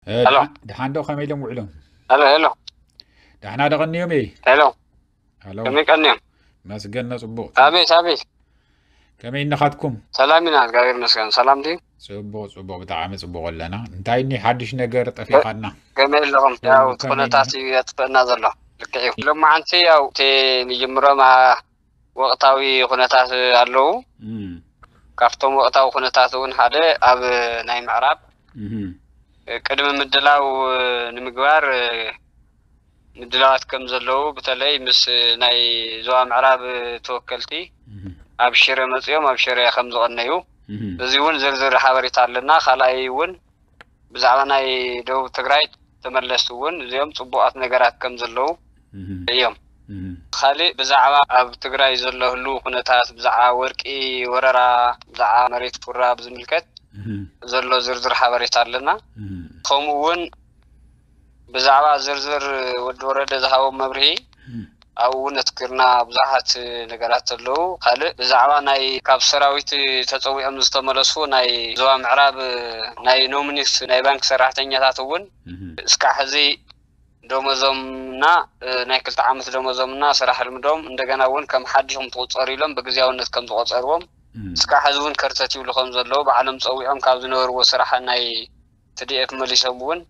ሄሎ። ደሓን ዶ? ከመይ ኢሎም ውዕሎም? ሄሎ፣ ሄሎ። ደሕና ዶ ቀንዮም እየ? ሄሎ። ሄሎ። ከመይ ቀንዮም? መስገን ነው፣ ጽቡቕ። ኣቤት፣ ኣቤት። ከመይ እነኻትኩም? ሰላም ኢና፣ እግዚኣብሔር ይመስገን። ሰላም ድዩ? ጽቡቕ፣ ጽቡቕ፣ ብጣዕሚ ጽቡቕ ኣለና። እንታይ እኒ ሓድሽ ነገር ጠፊኻና? ከመይ ኣለኹም? ያው፣ ከመይ ኩነታት እዩ የጥፍእና ዘሎ። ልክዕ እዩ። ሎማዓንቲ ያው፣ እቲ ንጅምሮም፣ ኣ፣ ወቕታዊ ኩነታት ኣለዉ። እም። ካብቶም ወቕታዊ ኩነታት እውን ሓደ ኣብ ናይ ምዕራብ እም። ቅድሚ ምድላው ንምግባር ምድላዋት ከም ዘለዉ፣ በተለይ ምስ ናይ ዞባ ምዕራብ ተወከልቲ እም። ኣብ ሽረ መጺኦም ኣብ ሽረ ከም ዝቐነዩ፣ እም። እዚ እውን ዝርዝር ሓበሬታ ኣለና። ካልኣይ እውን ብዛዕባ ናይ ደቡብ ትግራይ ተመለስቲ እውን እዚኦም ጽቡቓት ነገራት ከም ዘለዉ እም። እዮም። እም። ካልእ ብዛዕባ ኣብ ትግራይ ዘሎ ህልው ኩነታት፣ ብዛዕባ ወርቂ ወረራ፣ ብዛዕባ መሬት ኩራ ብዝምልከት እም። ዘሎ ዝርዝር ሓበሬታ ኣለና። እም። ከምኡ እውን ብዛዕባ ዝርዝር ወዲ ወረደ ዝሃቦም መብርሂ እም። ኣብኡ እውን ኣትኪርና ብዙሓት ነገራት ኣለዉ። ካልእ ብዛዕባ ናይ ካብ ሰራዊት ተጸዊዖም ዝተመለሱ ናይ ዞባ ምዕራብ ናይ ኖሚኒስ ናይ ባንክ ሰራሕተኛታት እውን እም። እስካዕ ሕዚ ደሞዞምና፣ እ፣ ናይ ክልተ ዓመት ደሞዞምና ስራሕ ልምዶም እንደገና እውን ከም ሓድሽ ከም ትቑጸሩ ኢሎም ብግዝያውነት ከም ዝቖጸርዎም እም። እስካዕ ሕዚ እውን ከርተት ይብሉ ከም ዘለዉ ባዕሎም ጸዊዖም ካብ ዝነበርዎ ስራሕ ናይ ቲ ዲ ኤፍ መሊሶም እውን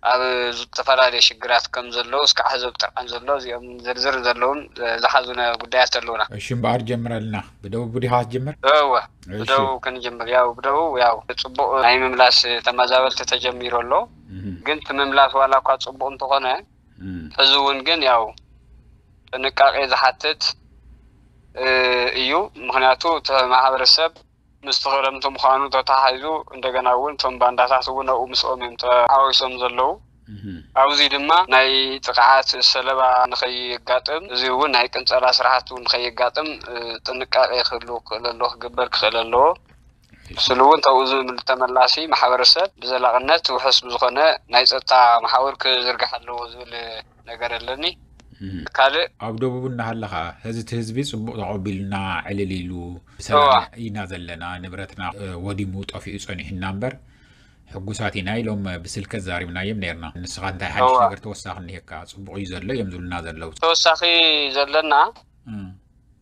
ኣብ ዝተፈላለዩ ሽግራት ከም ዘለዉ እስካዕ ሕዚ ኣብ ጥርዓን ዘሎ እዚኦም ዝርዝር ዘለዎም፣ እ፣ ዝሓዙ ነ-፣ ጉዳያት ኣለዉና። እሺ እምበኣር ጀምረልና። ብደቡብ ዲኻ ትጀምር? እወ፣ እሺ። ብደቡብ ክንጅምር። ያው ብደቡብ ያው ጽቡቕ ናይ ምምላስ ተመዛበልቲ ተጀሚሩ ኣሎ። እም። ግን እቲ ምምላስ ዋላ እኳ ጽቡቕ እንተኾነ እም። ሕዚ እውን ግን ያው ጥንቃቄ ዝሓትት፣ እ፣ እዩ። ምኽንያቱ እቲ ማሕበረሰብ ምስቲ ክረምቲ ምዃኑ ተተሓሒዙ እንደገና እውን እቶም ባንዳታት እውን ኣብኡ ምስኦም እዮም ተሓዋዊሶም ዘለዉ። እም። ኣብዚ ድማ ናይ ጥቕዓት ሰለባ ንኸየጋጥም፣ እዚ እውን ናይ ቅንጸላ ስራሕቲ እውን ንኸየጋጥም፣ እ፣ ጥንቃቄ ክህሉ ክኽእል ኣለዎ፣ ክግበር ክኽእል ኣለዎ። ስሉ እውን ተብኡ ዝብል ተመላሲ ማሕበረሰብ ብዘላቕነት ውሑስ ብዝኾነ ናይ ጸጥታ መሓውር ክዝርጋሕ ኣለዎ ዝብል ነገር ኣለኒ። እም። ካልእ ኣብ ደቡብ እናሃለኻ፣ እዚ እቲ ህዝቢ ጽቡቕ ተቐቢሉና ዕልል ኢሉ፣ ብሰላም እዋ። ኢና ዘለና፣ ንብረትና፣ እ፣ ወዲሙ ጠፊኡ ጸኒሑና እምበር፣ ሕጉሳት ኢና ኢሎም ብስልኪ ዘዛሪብናዮም ነይርና። ንስኻ እንታይ ሓድሽ እዋ። ነገር ተወሳኺ እኒሄካ? ጽቡቕ እዩ ዘሎ እዮም ዝብሉና ዘለዉ። ተወሳኺ ዘለና እም።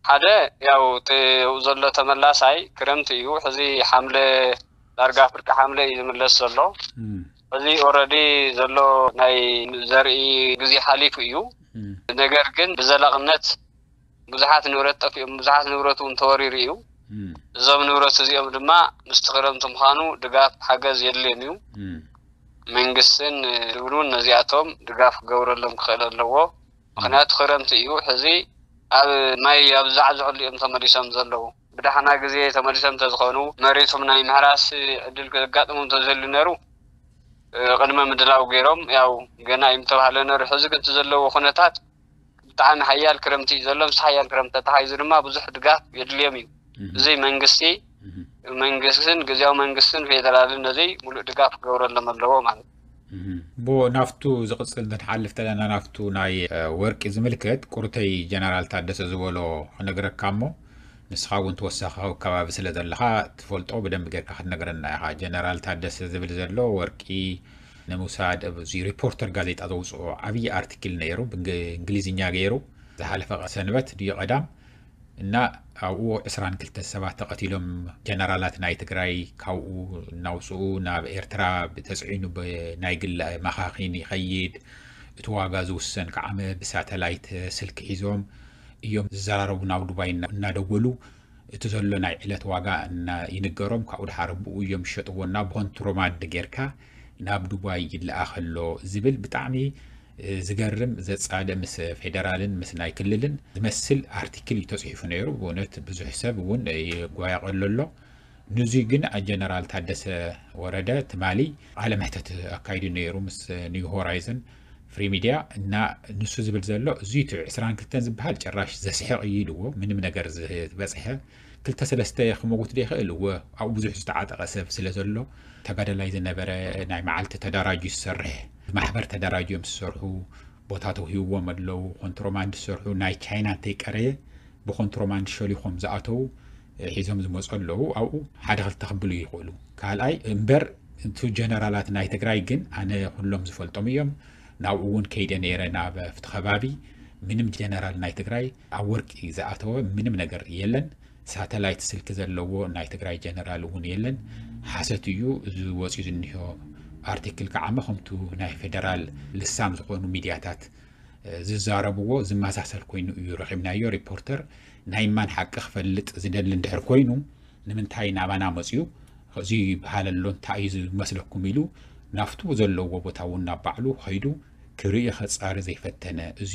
ሓደ ያው እቲ ኣብኡ ዘሎ ተመላሳይ ክረምቲ እዩ። ሕዚ ሓምለ ዳርጋ ፍርቂ ሓምለ እዩ ዝምለስ ዘሎ። እም። ሕዚ ኦረዲ ዘሎ ናይ ዘርኢ ግዜ ሓሊፉ እዩ። እም። ነገር ግን ብዘላቕነት ብዙሓት ንብረት ጠፊኦም፣ ብዙሓት ንብረት እውን ተወሪሩ እዩ። እም። እዞም ንብረት እዚኦም ድማ ምስቲ ክረምቲ ምዃኑ ድጋፍ ሓገዝ የድልዮም እዩ። እም። መንግስትን ድብሉን ነዚኣቶም ድጋፍ ክገብረሎም ክኽእል ኣለዎ። ምኽንያቱ ክረምቲ እዩ። ሕዚ ኣብ ማይ ኣብ ዝዛዕዝዐሉ እዮም ተመሊሶም ዘለዉ። ብዳሕና ግዜ ተመሊሶም እንተዝኾኑ መሬቶም ናይ ምሕራስ ዕድል ከጋጥሞም እንተዝህሉ ነይሩ፣ እ፣ ቅድመ ምድላው ገይሮም ያው ገና እዩ ምተባህለ ነይሩ። ሕዚ ግን እቲ ዘለዎ ኩነታት ብጣዕሚ ሓያል ክረምቲ እዩ ዘሎ። ምስ ሓያል ክረምቲ ተተሓሒዙ ድማ ብዙሕ ድጋፍ የድልዮም እዩ። እም። እዚ መንግስቲ፣ እም። መንግስትን ግዝያዊ መንግስትን ፌደራልን ነዚ ሙሉእ ድጋፍ ክገብረሎም ኣለዎ ማለት እዩ። እም። እሞ ናብቱ ዝቕጽል እንትንሓልፍ ተለና ናብቱ ናይ፣ እ፣ ወርቂ ዝምልከት ቁርተይ ጀነራል ታደሰ ዝበሎ ክነግረካ እሞ ንስኻ እውን ተወሳኺ ኣብ ከባቢ ስለ ዘለኻ ትፈልጦ ብደንቢ ጌርካ ክትነግረና ኢኻ። ጀነራል ታደሰ ዝብል ዘሎ ወርቂ ንምውሳድ ኣብዚ ሪፖርተር ጋዜጣ ዘውፅኦ ዓብዪ ኣርቲክል ነይሩ፣ ብእንግሊዝኛ ገይሩ ዝሓለፈ ሰንበት ድዩ ቀዳም እና ኣብኡ ዕስራን ክልተን ሰባት ተቐቲሎም፣ ጀነራላት ናይ ትግራይ ካብኡ እናውፅኡ ናብ ኤርትራ ብተፅዒኑ ብናይ ግሊ መኻኺን ይኸይድ። እቲ ዋጋ ዝውሰን ከዓ ብሳተላይት ስልኪ ሒዞም እዮም ዝዘራረቡ፣ ናብ ዱባይ እና-፣ እናደወሉ እቲ ዘሎ ናይ ዕለት ዋጋ እና-፣ ይንገሮም፣ ካብኡ ድሓር ብኡ እዮም ዝሸጥዎ እና ብኮንትሮባንድ ጌርካ ናብ ዱባይ ይለኣኸ ኣሎ ዝብል ብጣዕሚ፣ እ፣ ዝገርም ዘጻደ ምስ ፌደራልን ምስ ናይ ክልልን ዝመስል ኣርቲክል እዩ ተጽሒፉ ነይሩ። ብእውነት ብዙሕ ሰብ እውን ይጓየቐሉ ኣሎ። ንዙይ ግን ጀነራል ታደሰ ወረደ ትማሊ ቃለ መሕተት ኣካይዱ ነይሩ ምስ ኒው ሆራይዘን ፍሪ ሚድያ እና ንሱ ዝብል ዘሎ እዙይ እቲ ዕስራን ክልተን ዝበሃል ጭራሽ ዘስሕቕ እዩ ኢልዎ። ምንም ነገር ዝበፅሐ ክልተ ሰለስተ ክመውት ዶ ይኽእል? እወ፣ ኣብኡ ብዙሕ ዝተዓጠቐ ሰብ ስለ ዘሎ ተጋዳላይ ዝነበረ ናይ መዓልቲ ተደራጅዩ ዝሰርሕ ማሕበር ተደራጅዮም ዝሰርሑ ቦታ ተውሂብዎም ኣለዉ። ኮንትሮባንድ ዝሰርሑ ናይ ቻይና እንተይቀረየ ብኮንትሮባንድ ሸሊኾም ዝኣተዉ ሒዞም ዝመፁ ኣለዉ። ኣብኡ ሓደ ክልተ ክብሉ ይኽእሉ። ካልኣይ እምበር እቱ ጀነራላት ናይ ትግራይ ግን ኣነ ኩሎም ዝፈልጦም እዮም። ናብኡ እውን ከይደ ነይረ፣ ናብ ኣብቲ ከባቢ ምንም ጀነራል ናይ ትግራይ ኣብ ወርቂ ዝኣተወ ምንም ነገር የለን። ሳተላይት ስልኪ ዘለዎ ናይ ትግራይ ጀነራል እውን የለን። ሓሰት እዩ። እዚ ወፂኡ ዝኒሆ ኣርቲክል ከዓ ከምቱ ናይ ፌደራል ልሳም ዝኾኑ ሚድያታት ዝዛረብዎ ዝመሳሰል ኮይኑ እዩ ረኺብናዮ። ሪፖርተር ናይ ማን ሓቂ ክፈልጥ ዝደሊ እንድሕር ኮይኑ ንምንታይ ናባና መፅዩ እዚ ይበሃል ኣሎ፣ እንታይ እዩ ዝመስለኩም ኢሉ ናብቱ ዘለዎ ቦታ እውን ናብ ባዕሉ ከይዱ ክርኢ ከፃሪ ዘይፈተነ፣ እዚ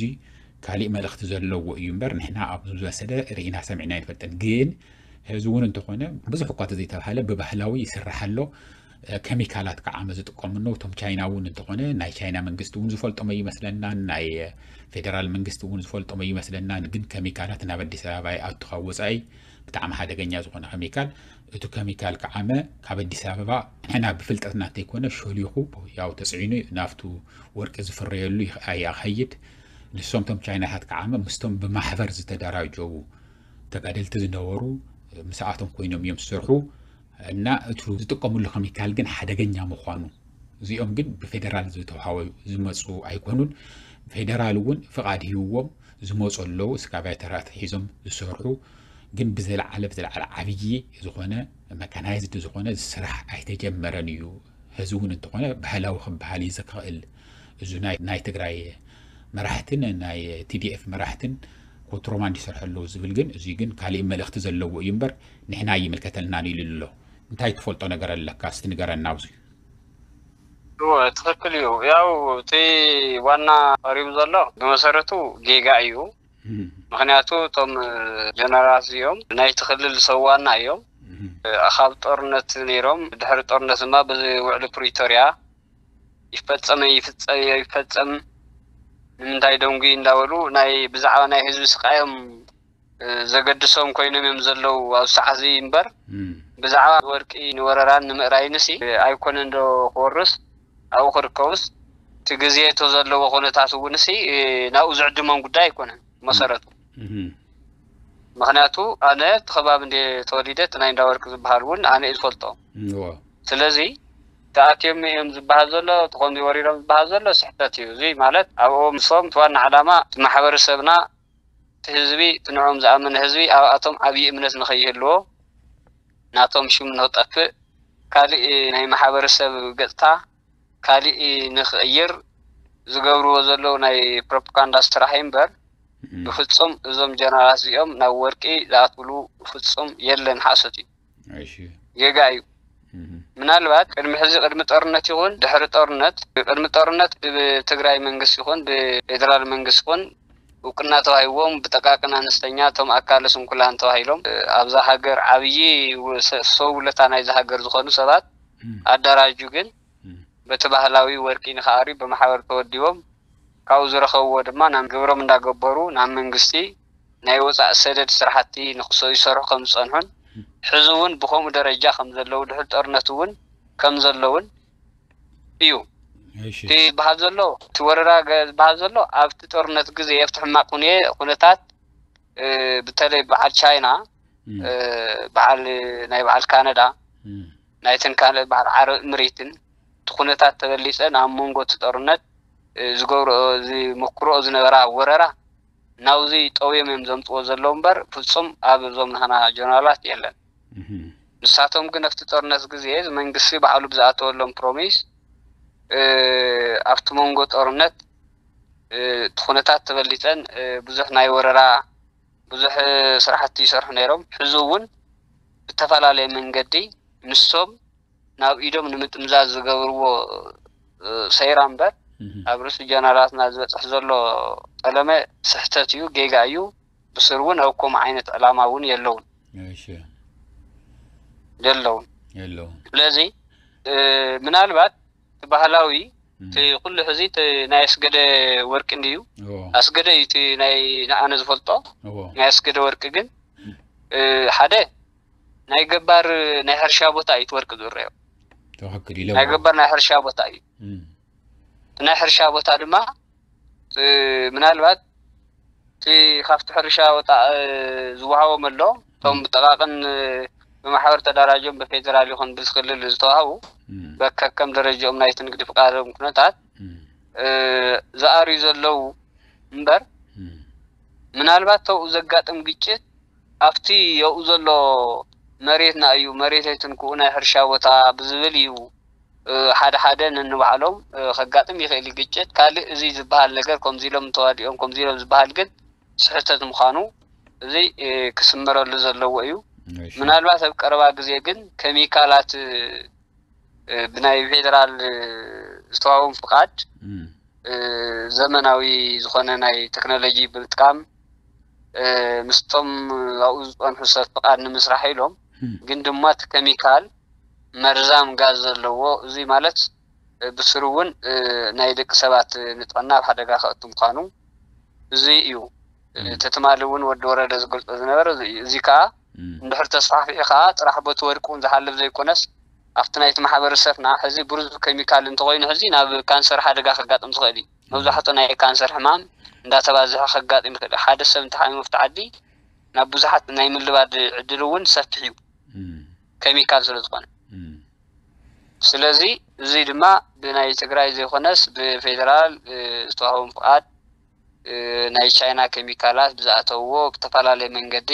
ካሊእ መልእኽቲ ዘለዎ እዩ እምበር ንሕና ኣብ ዝወሰደ ርኢና ሰሚዕና ኣይንፈልጥን። ግን ሕዚ እውን እንተኾነ ብዙሕ እኳ ተዘይተባሃለ ብባህላዊ ይስራሕ ኣሎ። ከሚካላት ከዓ ዝጥቀሙ ነው። እቶም ቻይና እውን እንተኾነ ናይ ቻይና መንግስቲ እውን ዝፈልጦም ኣይመስለናን፣ ናይ ፌደራል መንግስቲ እውን ዝፈልጦም ኣይመስለናን። ግን ከሚካላት ናብ ኣዲስ ኣበባ ይኣቱ ካብ ወፃኢ ብጣዕሚ ሓደገኛ ዝኾነ ከሚካል፣ እቱ ከሚካል ከዓመ ካብ ኣዲስ ኣበባ ንሕና ብፍልጠትና እንተይኮነ ሸሊኹ ያው ተፅዒኑ ናብቱ ወርቂ ዝፍረየሉ ይኸ- ይኸይድ። ንሶም እቶም ቻይናታት ከዓመ ምስቶም ብማሕበር ዝተደራጀዉ ተጋደልቲ ዝነበሩ ምስኣቶም ኮይኖም እዮም ዝሰርሑ። እና እቱ ዝጥቀምሉ ከሚካል ግን ሓደገኛ ምዃኑ፣ እዚኦም ግን ብፌደራል ዝተውሃበ ዝመፁ ኣይኮኑን። ፌደራል እውን ፍቓድ ሂብዎም ዝመፁ ኣለዉ፣ እስካቫተራት ሒዞም ዝሰርሑ። ግን ብዝለዓለ ብዝለዓለ ዓብዪ ዝኾነ መካናይዝድ ዝኾነ ስራሕ ኣይተጀመረን እዩ። ሕዚ እውን እንተኾነ ባህላዊ ክበሃል እዩ ዝኽእል። እዚ ናይ ናይ ትግራይ መራሕትን ናይ ቲዲኤፍ መራሕትን ኮንትሮባንድ ይሰርሑ ኣለዉ ዝብል ግን፣ እዚ ግን ካሊእ መልእኽቲ ዘለዎ እዩ እምበር ንሕና ኣይምልከተልናን ኢሉ ኣሎ። እንታይ ትፈልጦ ነገር ኣለካ? እስቲ ንገረና ኣብዚ። እወ፣ ትኽክል እዩ። ያው እቲ ዋና ቀሪቡ ዘሎ ብመሰረቱ ጌጋ እዩ። ምክንያቱ እቶም ጀነራላት እዚኦም ናይቲ ክልል ሰብ ዋና እዮም። ካብ ጦርነት ነይሮም፣ ድሕሪ ጦርነት ድማ ብዚ ውዕሊ ፕሪቶርያ ይፈጸም ይፍጸም ይፈጸም ንምንታይ ደንጉ እንዳበሉ ናይ ብዛዕባ ናይ ህዝቢ ስቃዮም ዘገድሶም ኮይኖም እዮም ዘለዉ ኣብዚ ሰዓት እዚ እምበር፣ ብዛዕባ ወርቂ ንወረራን ንምእራይንሲ ኣይኮነን ዶ ክወርስ ኣብኡ ክርከቡስ፣ እቲ ግዜ እቶ ዘለዎ ኩነታት እውንሲ ናብኡ ዝዕድሞም ጉዳይ ኣይኮነን መሰረቱ። ምክንያቱ ኣነ እቲ ከባቢ እንደ ተወሊደ እቲ ናይ እንዳወርቂ ዝበሃል እውን ኣነ እዩ ዝፈልጦ። ስለዚ ተኣትዮም እዮም ዝበሃል ዘሎ፣ እቲ ከምዚ ወሪሮም ዝበሃል ዘሎ ስሕተት እዩ። እዚ ማለት ኣብኦም ንሶም እቲ ዋና ዓላማ እቲ ማሕበረሰብና፣ እቲ ህዝቢ፣ እቲ ንዕኦም ዝኣመነ ህዝቢ ኣብኣቶም ዓብዪ እምነት ንኸይህልዎ፣ ናቶም ሽም ንኽጠፍእ፣ ካሊእ ናይ ማሕበረሰብ ገፅታ ካሊእ ንኽቕይር ዝገብርዎ ዘለዉ ናይ ፕሮፓጋንዳ ስራሕ እዩ እምበር፣ ብፍፁም እዞም ጀነራላት እዚኦም ናብ ወርቂ ዝኣትውሉ ፍፁም የለን፣ ሓሶት እዩ፣ ጌጋ እዩ። ምናልባት ቅድሚ ሕዚ ቅድሚ ጦርነት ይኹን ድሕሪ ጦርነት፣ ቅድሚ ጦርነት ብትግራይ መንግስቲ ይኹን ብፌደራል መንግስቲ ይኹን እውቅና ተዋሂብዎም ብጠቃቅን ኣነስተኛ እቶም ኣካለ ስንኩላን ተባሂሎም ኣብዛ ሃገር ዓብዪ ሰብ ውለታ ናይዛ ሃገር ዝኾኑ ሰባት ኣደራጁ ግን በቲ ባህላዊ ወርቂ ንክኣርዩ ብማሕበር ተወዲቦም ካብኡ ዝረኸብዎ ድማ ናብ ግብሮም እንዳገበሩ ናብ መንግስቲ ናይ ወፃእ ሰደድ ስራሕቲ ንክሰ ይሰርሑ ከም ዝፀንሑን ሕዚ እውን ብከምኡ ደረጃ ከም ዘለዉ ድሕሪ ጦርነት እውን ከም ዘለውን እዩ። እቲ ዝበሃል ዘሎ እቲ ወረራ ዝበሃል ዘሎ ኣብቲ ጦርነት ግዜ ኣብቲ ሕማቅ ኩነታት በተለይ በዓል ቻይና በዓል ናይ በዓል ካናዳ ናይተን ካልእ በዓል ዓረብ እምሬትን እቲ ኩነታት ተበሊፀ ናብ መንጎ እቲ ጦርነት ዝገብርኦ ዝመክርኦ ዝነበራ ወረራ ናብዚ ጠውዮም እዮም ዘምፅዎ ዘለዉ እምበር ፍፁም ኣብ እዞም ናህና ጀነራላት የለን። ንሳቶም ግን ኣብቲ ጦርነት ግዜ መንግስቲ ባዕሉ ብዝኣተወሎም ፕሮሚስ ኣብቲ መንጎ ጦርነት እቲ ኩነታት ተበሊፀን ብዙሕ ናይ ወረራ ብዙሕ ስራሕቲ ይሰርሑ ነይሮም። ሕዚ እውን ብተፈላለየ መንገዲ ንሶም ናብ ኢዶም ንምጥምዛዝ ዝገብርዎ ሰይራ እምበር ኣብ ርእሲ ጀነራላትና ዝበፅሕ ዘሎ ጠለመ ስሕተት እዩ፣ ጌጋ እዩ። ብስር እውን ኣብ ከምኡ ዓይነት ዕላማ እውን የለውን የለውን። ስለዚ ምናልባት እቲ ባህላዊ እቲ ኩሉ ሕዚ እቲ ናይ ኣስገደ ወርቂ እንድዩ ኣስገደ እዩ እቲ ናይ ንኣነ ዝፈልጦ ናይ ኣስገደ ወርቂ ግን ሓደ ናይ ገባር ናይ ሕርሻ ቦታ እዩ እቲ ወርቂ ዝርአዮ። ናይ ገባር ናይ ሕርሻ ቦታ እዩ። እቲ ናይ ሕርሻ ቦታ ድማ ምናልባት እቲ ካብቲ ሕርሻ ወፃእ ዝወሃቦም ኣሎ እቶም ብጠቃቅን ብማሕበር ተደራጅዮም ብፌደራል ይኹን ብክልል ዝተዋህቡ በከከም ደረጃኦም ናይቲ ንግዲ ፍቃዶም ኩነታት ዝኣርዩ ዘለዉ እምበር ምናልባት ተብኡ ዘጋጥም ግጭት ኣብቲ የኡ ዘሎ መሬትና እዩ፣ መሬት ኣይትንክኡ ናይ ሕርሻ ቦታ ብዝብል እዩ ሓደ ሓደ ነንባዕሎም ከጋጥም ይኽእል እዩ ግጭት። ካልእ እዚ ዝበሃል ነገር ከምዚ ኢሎም ተዋዲኦም ከምዚ ኢሎም ዝበሃል ግን ስሕተት ምዃኑ እዚ ክስመረሉ ዘለዎ እዩ። ምናልባት ኣብ ቀረባ ግዜ ግን ከሚካላት ብናይ ፌደራል ዝተዋህቦም ፍቃድ ዘመናዊ ዝኾነ ናይ ቴክኖሎጂ ብምጥቃም ምስቶም ኣብኡ ዝፀንሑ ሰብ ፍቃድ ንምስራሕ ኢሎም ግን ድማ እቲ ከሚካል መርዛም ጋዝ ዘለዎ እዚ ማለት ብስሩ እውን ናይ ደቂ ሰባት ንጥዕና ኣብ ሓደጋ ከእቱ ምዃኑ እዚ እዩ። እቲ ትማሊ እውን ወዲ ወረደ ዝገልፆ ዝነበረ እዚ እዩ። እዚ ከዓ እንድሕር ተስፋሕፊሑ ከዓ ጥራሕ በቲ ወርቂ እውን ዝሓልፍ ዘይኮነስ ኣብቲ ናይቲ ማሕበረሰብና ሕዚ ብሩዝ ከሚካል እንተኮይኑ ሕዚ ናብ ካንሰር ሓደጋ ከጋጥም ዝኽእል እዩ። መብዛሕትኡ ናይ ካንሰር ሕማም እንዳተባዝሐ ከጋጥም ይኽእል እዩ። ሓደ ሰብ እንተሓሚሙ ኣብቲ ዓዲ ናብ ብዙሓት ናይ ምልባድ ዕድል እውን ሰፊሕ እዩ ከሚካል ስለ ዝኾነ። ስለዚ እዚ ድማ ብናይ ትግራይ ዘይኮነስ ብፌደራል ዝተዋህቦም ፍቃድ ናይ ቻይና ከሚካላት ብዝኣተውዎ ብተፈላለየ መንገዲ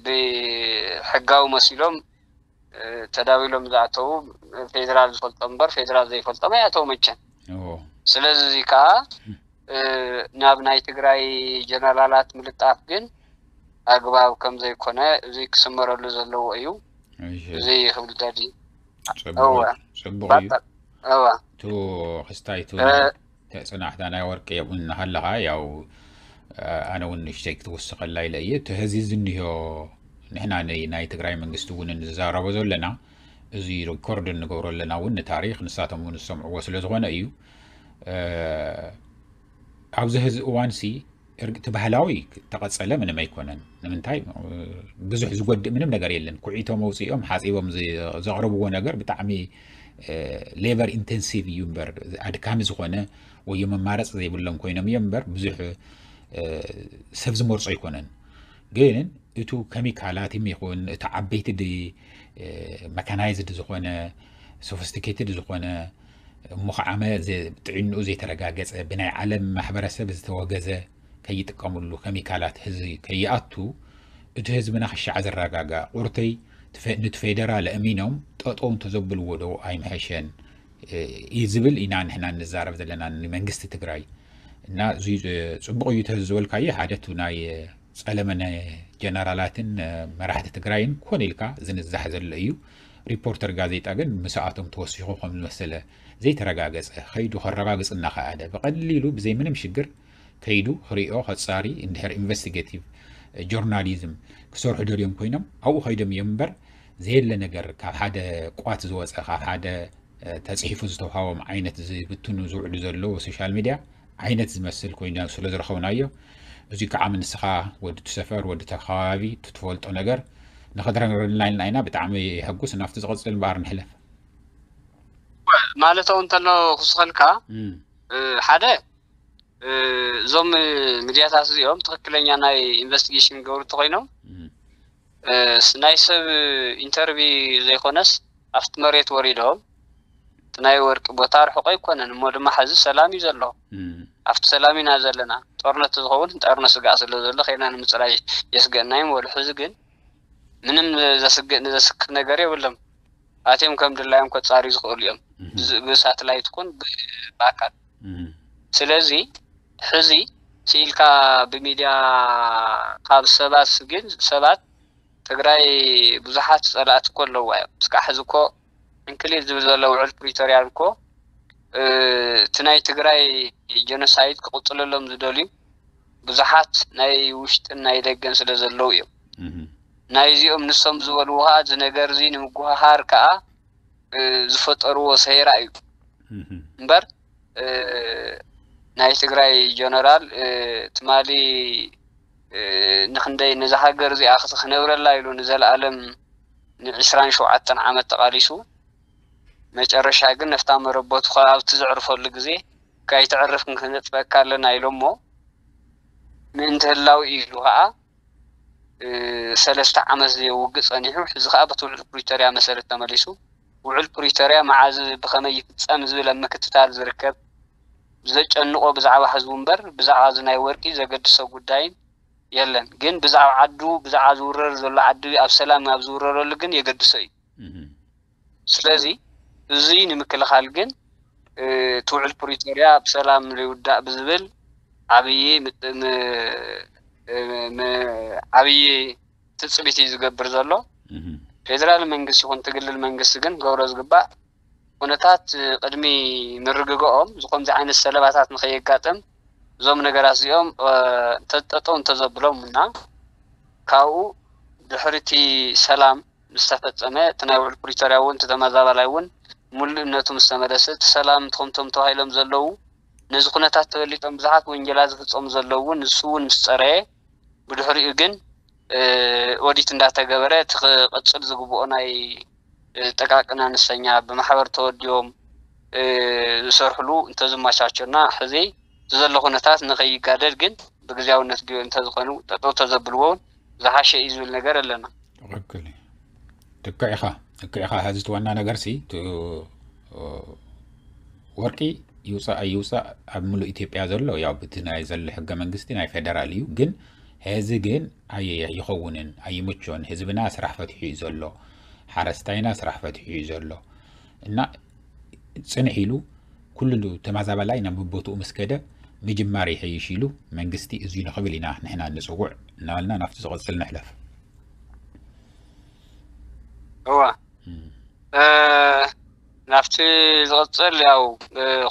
ብሕጋዊ መሲሎም ተዳዊሎም ዝኣተዉ ፌደራል ዝፈልጦ እምበር ፌደራል ዘይፈልጦም ኣይኣተዉ መቸም። ስለዚ እዚ ከዓ ናብ ናይ ትግራይ ጀነራላት ምልጣፍ ግን ኣግባብ ከም ዘይኮነ እዚ ክስመረሉ ዘለዎ እዩ። እዚ ክብል ደሊ። ጽቡቕ እዩ። እዋ ቱ ክስታይ ቱ ተጽናሕታ ናይ ወርቂ የቡን ሃለኻ ያው ኣነ እውን ንሽተይ ክትውስኸላ ኢለ እየ። እቲ ህዚ ዝንዮ ንሕና ናይ ትግራይ መንግስቲ እውን እንዛረቦ ዘለና እዚ ሪኮርድ እንገብሮ ኣለና እውን ንታሪክ ንሳቶም እውን ዝሰምዕዎ ስለ ዝኾነ እዩ። ኣብዚ ህዚ እዋንሲ እቲ ባህላዊ ተቐጸለ ምንም ኣይኮነን። ንምንታይ ብዙሕ ዝጎድእ ምንም ነገር የለን። ኩዒቶም ኣውፂኦም ሓፂቦም ዘቕርብዎ ነገር ብጣዕሚ ሌበር ኢንቴንሲቭ እዩ እምበር ኣድካሚ ዝኾነ ወይ መማረፂ ዘይብሎም ኮይኖም እዮም እምበር ብዙሕ ሰብ ዝመርፆ ኣይኮነን። ግን እቱ ከሚካላት ይኹን እቲ ዓበይቲ መካናይዝድ ዝኾነ ሶፊስቲኬትድ ዝኾነ እሞ ከዓ ጥዕንኡ ዘይተረጋገፀ ብናይ ዓለም ማሕበረሰብ ዝተወገዘ ከይጥቀምሉ ከሚካላት ህዚ ከይኣቱ እቲ ህዝብና ክሻዕ ዘረጋጋእ ቁርተይ ንትፌደራል እሚኖም ጠጠው እንተዘብልዎ ዶ ኣይምሐሸን እዩ ዝብል ኢና ንሕና ንዛረብ ዘለና ንመንግስቲ ትግራይ። እና እዚ ፅቡቕ እዩ ተዝበልካዮ ሓደ እቲ ናይ ፀለመ ጀነራላትን መራሕቲ ትግራይን ኮን ኢልካ ዝንዛሕ ዘሎ እዩ። ሪፖርተር ጋዜጣ ግን ምስኣቶም ተወሲኹ ከም ዝመሰለ ዘይተረጋገፀ ከይዱ ከረጋግፅ እናኸኣለ ብቐሊሉ ብዘይ ምንም ሽግር ከይዱ ክሪኦ ከፃሪ እንድሕር ኢንቨስቲጌቲቭ ጆርናሊዝም ክሰርሑ ደልዮም ኮይኖም ኣብኡ ከይዶም እዮም እምበር ዘየለ ነገር ካብ ሓደ ቋት ዝወፀ ካብ ሓደ ተፅሒፉ ዝተውሃቦም ዓይነት ዝብትኑ ዝውዕሉ ዘለዉ ሶሻል ሚድያ ዓይነት ዝመስል ኮይኑ ስለ ዝረኸብናዮ እዚ ከዓ ንስኻ ወዲ እቲ ሰፈር ወዲ እቲ ከባቢ እቲ ትፈልጦ ነገር ንኸድረግረልና ኢልና ኢና ብጣዕሚ የሐጉስ ናብቲ ዝቐፅል እምበኣር ንሕለፍ ማለት እውን እንተሎ ክስኸልካ ሓደ እዞም ሚድያታት እዚኦም ትኽክለኛ ናይ ኢንቨስቲጌሽን ገብሩ እንተኮይኖም ናይ ሰብ ኢንተርቪ ዘይኮነስ ኣብቲ መሬት ወሪዶም እቲ ናይ ወርቂ ቦታ ርሑቕ ኣይኮነን እሞ ድማ ሕዚ ሰላም እዩ ዘሎ ኣብቲ ሰላም ኢና ዘለና ጦርነት ዝኸውን ጠርነ ስጋእ ስለ ዘሎ ከይና ንምፅራይ የስገእና እዩ በሉ ሕዚ ግን ምንም ዘስግእ ዘስክፍ ነገር የብሎም ኣትዮም ከም ድላዮም ከፃርዩ ዝኽእሉ እዮም ብሳትላይት ኩን ብኣካል ስለዚ ሕዚ ስኢልካ ብሚድያ ካብ ሰባት ግን ሰባት ትግራይ ብዙሓት ፀላእቲ እኮ ኣለዋ እዮም እስካዕ ሕዚ እኮ እንክሊል ዝብል ዘሎ ውዕል ፕሪቶርያን እኮ እቲ ናይ ትግራይ ጀኖሳይድ ክቕፅለሎም ዝደልዩ ብዙሓት ናይ ውሽጥን ናይ ደገን ስለ ዘለዉ እዮም ናይዚኦም ንሶም ዝበልዎ ከዓ እዚ ነገር እዚ ንምጉሃሃር ከዓ ዝፈጠርዎ ሰይራ እዩ እምበር ናይ ትግራይ ጀነራል ትማሊ ንክንደይ ነዛ ሃገር እዚኣ ክነብረላ ኢሉ ንዘለኣለም ንዕስራን ሸውዓተን ዓመት ተቓሊሱ መጨረሻ ግን ነፍታ መረቦቱ ኣብቲ ዘዕርፈሉ ግዜ ካይተዕርፍ ክንጽበካ ኣለና ኢሎሞ ምእንቲ ህላው ኢሉ ከዓ ሰለስተ ዓመት ዘየውግእ ጸኒሑ፣ ሕዚ ከኣ በቲ ውዕል ፕሪቶርያ መሰረት ተመሊሱ። ውዕል ፕሪቶርያ መዓዝ ብኸመይ ይፍጸም ዝብል ኣብ ምክትታል ዝርከብ፣ ዘጨንቆ ብዛዕባ ህዝቡ እምበር ብዛዕባ እዚ ናይ ወርቂ ዘገድሶ ጉዳይን የለን። ግን ብዛዕባ ዓዱ፣ ብዛዕባ ዝውረር ዘሎ ዓዲ ኣብ ሰላም ኣብ ዝውረረሉ ግን የገድሶ እዩ። ስለዚ እዚ ንምክልኻል ግን እቲ ውዕል ፕሪቶርያ ብሰላም ይውዳእ ብዝብል ዓብዪ ዓብዪ ትፅቢት እዩ ዝገብር ዘሎ። ፌደራል መንግስቲ ይኹን ትግልል መንግስቲ ግን ክገብሮ ዝግባእ፣ ኩነታት ቅድሚ ምርግግኦም ዝኮምዚ ዓይነት ሰለባታት ንከየጋጥም እዞም ነገራት እዚኦም ጠጠው እንተዘብሎም እና ካብኡ ድሕሪ እቲ ሰላም ምስ ተፈጸመ እቲ ናይ ውዕል ፕሪቶርያ እውን እቲ ተመዛባላይ እውን ሙሉእነቱ ምስ ተመለሰ እቲ ሰላም ትኹምቶም ተባሂሎም ዘለዉ ነዚ ኩነታት ተበሊጦም ብዙሓት ወንጀላት ዝፍጸሙ ዘለዉ እውን ንሱ እውን ምስ ጸረየ ብድሕሪኡ ግን ኦዲት እንዳተገበረ እቲ ክቕጽል ዝግብኦ ናይ ጥቃቅን ኣነስተኛ ብማሕበር ተወዲቦም ዝሰርሕሉ እንተዝመቻቸና ሕዚ እቲ ዘሎ ኩነታት ንኸይጋደድ ግን ብግዜያውነት ድዮ እንተዝኾኑ ጠጠው ተዘብልዎ እውን ዝሓሸ እዩ ዝብል ነገር ኣለና። ትክክል እዩ። ትክዕ ኢኻ ትክዕ ኢኻ። ሀዚ እቲ ዋና ነገር ሲ ወርቂ ይውፃእ ኣይውፃእ ኣብ ሙሉእ ኢትዮጵያ ዘሎ ያው ብቲ ናይ ዘሎ ሕገ መንግስቲ ናይ ፌደራል እዩ። ግን ሀዚ ግን ኣይኸውንን ኣይምቾን። ህዝብና ስራሕ ፈትሑ እዩ ዘሎ፣ ሓረስታይና ስራሕ ፈትሑ እዩ ዘሎ እና ፅንሕ ኢሉ ኩሉ ተመዛባላይ ናብ ቦትኡ ምስ ከደ ምጅማር ይሐይሽ ኢሉ መንግስቲ እዙይ ንኽብል ኢና ንሕና ንፅውዕ እናበልና ናብቲ ዝቕፅል ንሕለፍ። እወ ናብቲ ዝቕፅል ያው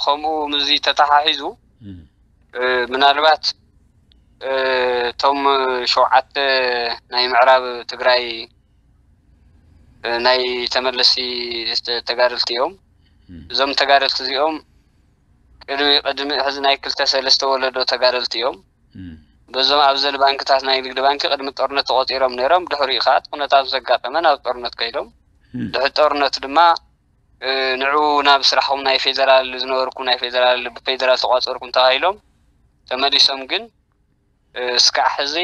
ከምኡ ምዚ ተተሓሒዙ ምናልባት እቶም ሸውዓተ ናይ ምዕራብ ትግራይ ናይ ተመለስቲ ተጋደልቲ እዮም። እዞም ተጋደልቲ እዚኦም ቅድሚ ቅድሚ ሕዚ ናይ ክልተ ሰለስተ ወለዶ ተጋደልቲ እዮም። በዞም ኣብ ዘል ባንክታት ናይ ንግዲ ባንኪ ቅድሚ ጦርነት ተቆፂሮም ነይሮም። ድሕሪኡ ከዓ እቲ ኩነታት ምስ ኣጋጠመ ናብ ጦርነት ከይዶም። ድሕሪ ጦርነት ድማ ንዑ ናብ ስራሕኩም ናይ ፌደራል ዝነበርኩም ናይ ፌደራል ብፌደራል ተቋፀርኩም ተባሂሎም ተመሊሶም። ግን እስካዕ ሕዚ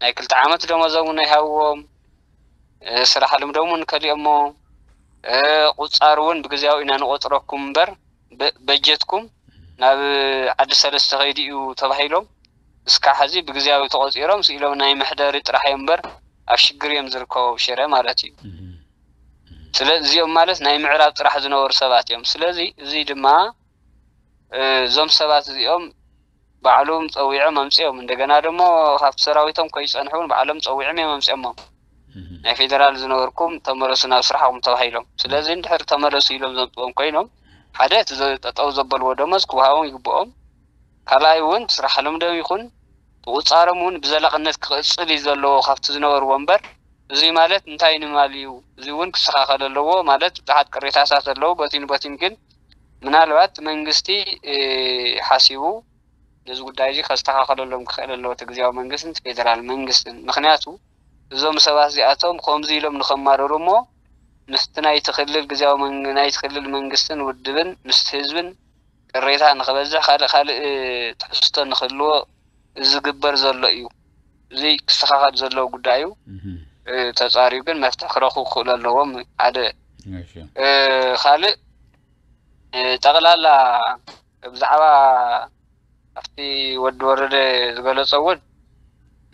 ናይ ክልተ ዓመት ደሞዞም እውን ኣይሃብዎም። ስራሕ ልምዶም እውን ከሊኦሞ። ቁፃር እውን ብግዜያዊ ኢና ንቆፅረኩም እምበር በጀትኩም ናብ ዓዲ ሰለስተ ከይዱ እዩ ተባሂሎም እስካዕ ሕዚ ብግዜያዊ ተቆፂሮም ስኢሎም ናይ መሕደሪ ጥራሕ እዮም እምበር ኣብ ሽግር እዮም ዝርከቡ ኣብ ሽረ ማለት እዩ። ስለዚ እዚኦም ማለት ናይ ምዕራብ ጥራሕ ዝነበሩ ሰባት እዮም። ስለዚ እዚ ድማ እዞም ሰባት እዚኦም ባዕሎም ፀዊዖም ኣምፅኦም እንደገና ደሞ ካብቲ ሰራዊቶም ከይፀንሑ እውን ባዕሎም ፀዊዖም እዮም ኣምፅኦሞም። ናይ ፌደራል ዝነበርኩም ተመለሱ ናብ ስራሕኩም ተባሂሎም። ስለዚ እንድሕር ተመለሱ ኢሎም ዘምፅኦም ኮይኖም ሓደ እቲ ጠጠው ዘበልዎ ደሞዝ ክወሃቦም ይግብኦም። ካልኣይ እውን ስራሕ ልምዶም ይኹን ብቁፃሮም እውን ብዘላቕነት ክቕፅል እዩ ዘለዎ ካብቲ ዝነበርዎ እምበር እዙይ ማለት እንታይ ንማል እዩ? እዚ እውን ክስተኻኸል ኣለዎ ማለት ብዙሓት ቅሬታታት ኣለዉ። በቲኑ በቲኑ ግን ምናልባት መንግስቲ ሓሲቡ ነዚ ጉዳይ እዚ ከስተኻኸለሎም ክኽእል ኣለዎ እቲ ግዜያዊ መንግስትን እቲ ፌደራል መንግስትን። ምክንያቱ እዞም ሰባት እዚኣቶም ከምዚ ኢሎም ንኸማረሩ እሞ ምስቲ ናይቲ ክልል ግዜያዊ ናይቲ ክልል መንግስትን ውድብን ምስቲ ህዝብን ቅሬታ ንኽበዝሕ ካልእ ካልእ ትሕዝቶ ንክህልዎ ዝግበር ዘሎ እዩ። እዚ ክስተኻኸል ዘለዎ ጉዳይ እዩ። ተፃሪዩ ግን መፍትሒ ክረኽቡ ክኽእሉ ኣለዎም። ሓደ ካልእ ጠቕላላ ብዛዕባ ኣብቲ ወዲ ወረደ ዝገለፆ እውን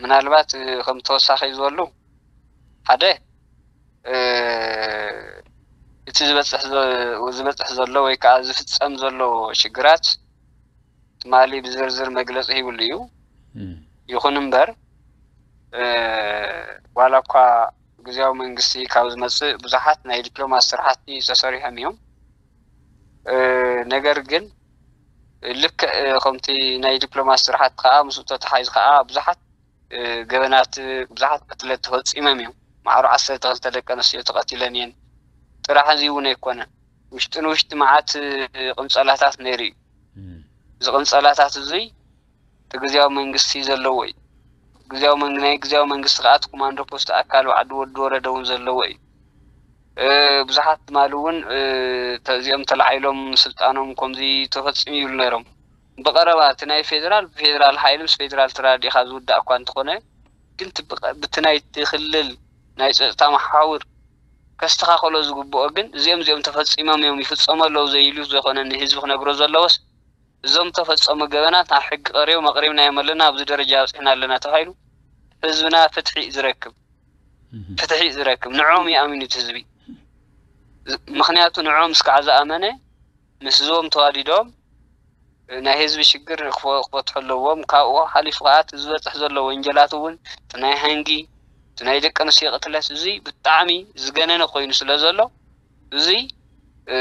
ምናልባት ከም ተወሳኺ ዝበሉ ሓደ እቲ ዝበፅሕ ዝበፅሕ ዘሎ ወይ ከዓ ዝፍፀም ዘሎ ሽግራት ትማሊ ብዝርዝር መግለፂ ሂብሉ እዩ። ይኹን እምበር ዋላ እኳ ግዜያዊ መንግስቲ ካብ ዝመፅእ ብዙሓት ናይ ዲፕሎማሲ ስራሕቲ ተሰሪሖም እዮም። ነገር ግን ልክዕ ከምቲ ናይ ዲፕሎማሲ ስራሕቲ ከዓ ምስኡ ተተሓሒዙ ከዓ ብዙሓት ገበናት ብዙሓት ቅትለት ተፈፂሞም እዮም። ማዕሮ ዓሰርተ ክልተ ደቂ ኣንስትዮ ተቐቲለን እየን። ጥራሕ እዚ እውን ኣይኮነን። ውሽጢ ንውሽጢ መዓት ቅንፀላታት ነይሩ እዩ። እዚ ቅንፀላታት እዙይ እቲ ግዜያዊ መንግስቲ ዘለዎ እዩ። ግዜያዊ መንግ ናይ ግዜያዊ መንግስቲ ከዓ እቲ ኮማንዶ ፖስት ኣካል ባዕዲ ወዲ ወረደ እውን ዘለዎ እዩ። ብዙሓት ትማሊ እውን እዚኦም ተላዒሎም ስልጣኖም ከምዚ ተፈፂሙ ይብሉ ነይሮም። ብቐረባ እቲ ናይ ፌዴራል ብፌዴራል ሓይሊ ምስ ፌዴራል ተራዲእካ ዝውዳእ እኳ እንተኾነ ግን እቲ ብቐ-፣ ብቲ ናይቲ ክልል ናይ ጸጥታ መሓውር ከስተኻኸሎ ዝግብኦ ግን እዚኦም እዚኦም ተፈጺሞም እዮም ይፍጸሙ ኣለዉ ዘይሉ ዘይኮነ ንህዝቢ ክነግሮ ዘለዎስ እዞም ተፈጸሙ ገበናት ኣብ ሕጊ ቀሪቦም ኣቕሪብናዮም ኣለና ኣብዚ ደረጃ ኣብጺሕና ኣለና ተባሂሉ ህዝብና ፍትሒ እዩ ዝረክብ። ፍትሒ እዩ ዝረክብ። ንዕኦም እዩ ኣሚኑ እቲ ህዝቢ። ምኽንያቱ ንዕኦም እስካዕ ዝኣመነ ምስዞም ተዋዲዶም ናይ ህዝቢ ሽግር ክፈ-፣ ክፈትሑ ኣለዎም። ካብኡ ሓሊፉ ከዓ እቲ ዝበፅሕ ዘሎ ወንጀላት እውን እቲ ናይ ሃንጊ፣ እቲ ናይ ደቂ ኣንስትዮ ቅትለት እዚ ብጣዕሚ ዝገነነ ኮይኑ ስለ ዘሎ እዚ እ፣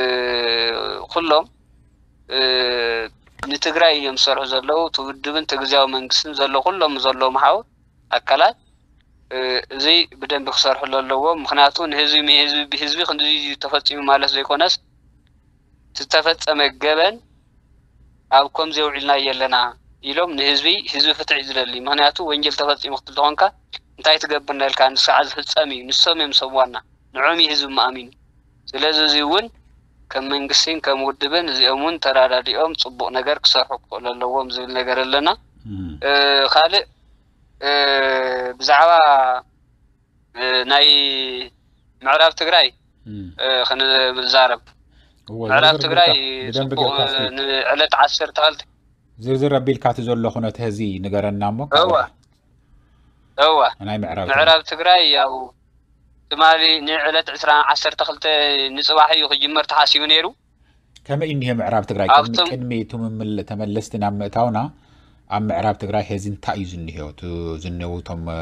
ኩሎም እ፣ ንትግራይ እዮም ዝሰርሑ ዘለዉ። እቲ ውድብን እቲ ግዝያዊ መንግስትን ዘሎ ኩሎም ዘለዉ መሓውር ኣካላት እ፣ እዚ ብደንቢ ክሰርሕሉ ኣለዎም። ምኽንያቱ ንህዝቢ ህዝቢ ብህዝቢ ክንዲ ተፈፂሙ ማለት ዘይኮነስ ዝተፈጸመ ገበን ኣብ ከምዚ የውዒልናዮ ኣለና ኢሎም ንህዝቢ ህዝቢ ፍትሒ እዩ ዝደሊ። ምኽንያቱ ወንጀል ተፈጺሙ ክትብል ተኾንካ እንታይ ትገብር ነልካ ንስዓ ዝፍጸም እዩ። ንሶም እዮም ሰብ ዋና ንዖም እዩ ህዝቢ ማእሚኑ። ስለዚ እዚ እውን ከም መንግስትን ከም ውድብን እዚኦም እውን ተራዳዲኦም ጽቡቕ ነገር ክሰርሑ ክኽእሉ ኣለዎም ዝብል ነገር ኣለና። ካልእ ብዛዕባ ናይ ምዕራብ ትግራይ ክንዛረብ። ምዕራብ ትግራይ ብደንብ ጽቡቕ ጌርካ እስኪ ንዕለት ዓሰርተ ክልተ ዝርዝር ኣቢልካ እቲ ዘሎ ኩነት ህዚ ንገረና እሞ እወ እወ ናይ ምዕራብ ትግራይ። ምዕራብ ትግራይ ያው ትማሊ ንዕለት ዕስራ ዓሰርተ ክልተ ንጽባሕ እዩ ክጅመር ተሓሲቡ ነይሩ። ከመይ እኒሄ ምዕራብ ትግራይ? ቅድሚ ኣብቶም ቅድሚ ትምምል ተመለስቲ ናብ ምእታውና ኣብ ምዕራብ ትግራይ ሄዚ እንታይ እዩ ዝኒሄ? እቲ ዝኒሄው እቶም እ፣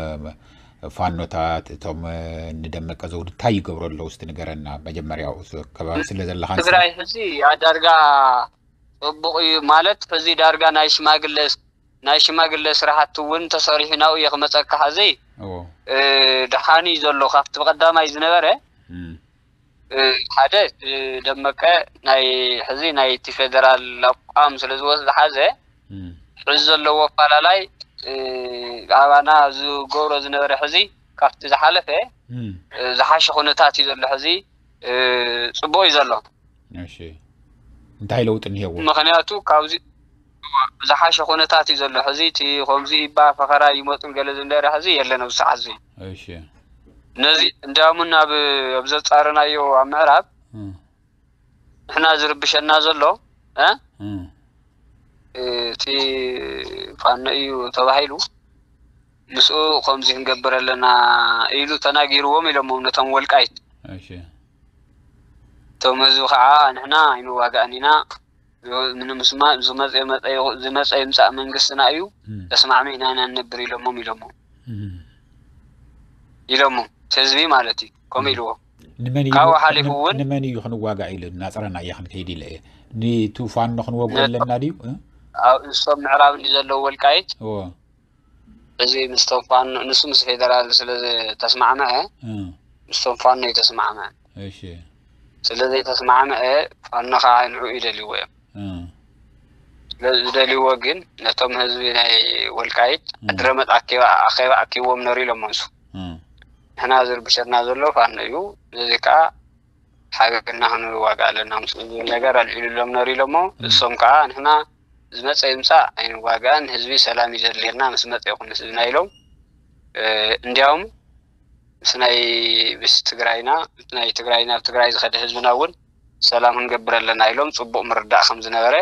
ፋኖታት እቶም እ፣ ንደመቀ ዘውዱ እንታይ ይገብሩ ኣለዉ? እስቲ ንገረና። መጀመርያው ስ- ከባቢ ስለ ዘለኻ ንስኻ። ትግራይ ሕዚ ኣዳርጋ ጽቡቕ እዩ ማለት ሕዚ ዳርጋ ናይ ሽማግለ ናይ ሽማግለ ስራሕቲ እውን ተሰሪሑ ናብኡ እየ ክመፀካ ሕዚ እዎ እ፣ ደሓን እዩ ዘሎ ካብቲ ብቐዳማይ ዝነበረ እም፣ ሓደ ደመቀ ናይ ሕዚ ናይቲ ፌደራል ኣቋም ስለ ዝወስ ዝሓዘ ሕዚ ዘለዎ ኣፈላላይ ኣባና ዝገብሮ ዝነበረ ሕዚ ካብቲ ዝሓለፈ ዝሓሸ ኩነታት እዩ ዘሎ ሕዚ ፅቡቅ እዩ ዘሎ። እሺ እንታይ ለውጢ እኒሄዎ? ምክንያቱ ካብዚ ዝሓሸ ኩነታት እዩ ዘሎ ሕዚ እቲ ከምዚ ይባ ፈኸራ ይመፁን ገለ ዝንደረ ሕዚ የለን ኣብዚ ሰዓት እዚ። እሺ ነዚ እንዳሙን ኣብ ኣብ ዘጻረናዮ ኣብ ምዕራብ ንሕና ዝርብሸና ዘሎ እ እቲ ፋኖ እዩ ተባሂሉ ምስኡ ከምዚ ክንገብር ኣለና ኢሉ ተናጊርዎም ኢሎሞም ነቶም ወልቃይት። እሺ እቶም ህዝቢ ከዓ ንሕና ኣይንዋጋእን ኢና ዝመፀ ይምፃእ መንግስትና እዩ ተስማዕሚዕና ኢና ንነብር ኢሎሞም ኢሎሞም ኢሎሞም ህዝቢ ማለት እዩ ከምኡ ኢልዎ። ካብኡ ሓሊፉ እውን ንመን እዩ ክንዋጋእ ኢሉ ናፅረና እየ ክንከይድ ኢለ እየ ንቱ ፋኖ ክንወግኦ ኣለና ድዩ? እሶም ምዕራብ እንዲ ዘለዉ ወልቃይት እዚ ምስቶም ፋኖ ንሱ ምስ ፌደራል ስለ ዝተስማዕመዐ ምስቶም ፋኖ እዩ ተስማዕመዐ። እሺ ስለ ዘይተስማዕመዐ ፋኖ ከዓ ንዑ ይደልይዎ እዮም። ስለ ዝደልይዎ ግን ነቶም ህዝቢ ናይ ወልቃይት ኣድረመጥ ኣኬባ ኣኼባ ኣኪቦም ነሩ ኢሎም መንሱ ንሕና ዝርብሸና ዘሎ ፋኖ እዩ። ነዚ ከዓ ሓቢርና ክንዋጋእ ኣለና ምስ ዝብል ነገር ኣልዒሉሎም ነሩ ኢሎሞ እሶም ከዓ ንሕና ዝመፀ ይምፃእ ኣይንዋጋእን ህዝቢ ሰላም እዩ ዘድልየና ምስ መፀ ይኹን ምስ ዝብና ኢሎም እንዲያውም ምስ ናይ ምስ ትግራይና ምስ ናይ ትግራይ ናብ ትግራይ ዝኸደ ህዝብና እውን ሰላም ክንገብር ኣለና ኢሎም ፅቡቅ ምርዳእ ከም ዝነበረ